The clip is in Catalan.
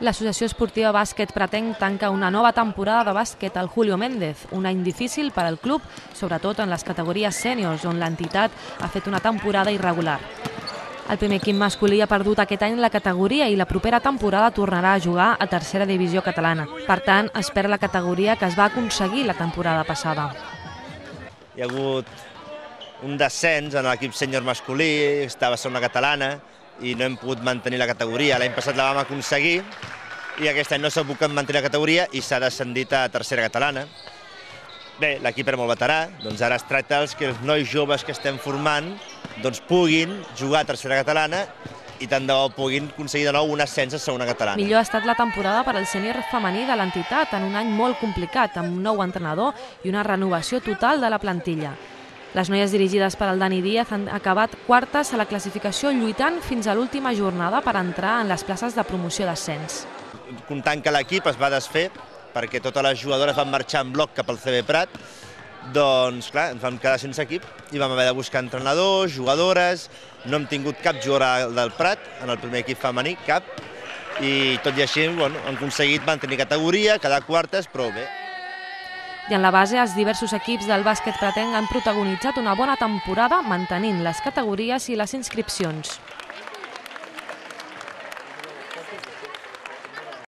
L'Associació Esportiva Bàsquet Pretenc tanca una nova temporada de bàsquet al Julio Méndez, un any difícil per al club, sobretot en les categories sèniors, on l'entitat ha fet una temporada irregular. El primer equip masculí ha perdut aquest any la categoria i la propera temporada tornarà a jugar a tercera divisió catalana. Per tant, es perd la categoria que es va aconseguir la temporada passada. Hi ha hagut un descens en l'equip sènior masculí, estava a segona catalana, i no hem pogut mantenir la categoria. L'any passat la vam aconseguir i aquest any no s'ha pogut mantenir la categoria i s'ha descendit a tercera catalana. Bé, l'equip era molt veterà, doncs ara es tracta que els nois joves que estem formant puguin jugar a tercera catalana i tant de bo puguin aconseguir de nou un ascens a segona catalana. Millor ha estat la temporada per al sènior femení de l'entitat en un any molt complicat, amb un nou entrenador i una renovació total de la plantilla. Les noies dirigides per el Dani Díaz han acabat quartes a la classificació lluitant fins a l'última jornada per entrar en les places de promoció d'ascens. Comptant que l'equip es va desfer perquè totes les jugadores van marxar en bloc cap al CB Prat, doncs clar, ens vam quedar sense equip i vam haver de buscar entrenadors, jugadores, no hem tingut cap jugadora del Prat en el primer equip femení, cap, i tot i així hem aconseguit mantenir categoria, quedar quartes, però bé. I en la base, els diversos equips del bàsquet pretenc han protagonitzat una bona temporada mantenint les categories i les inscripcions.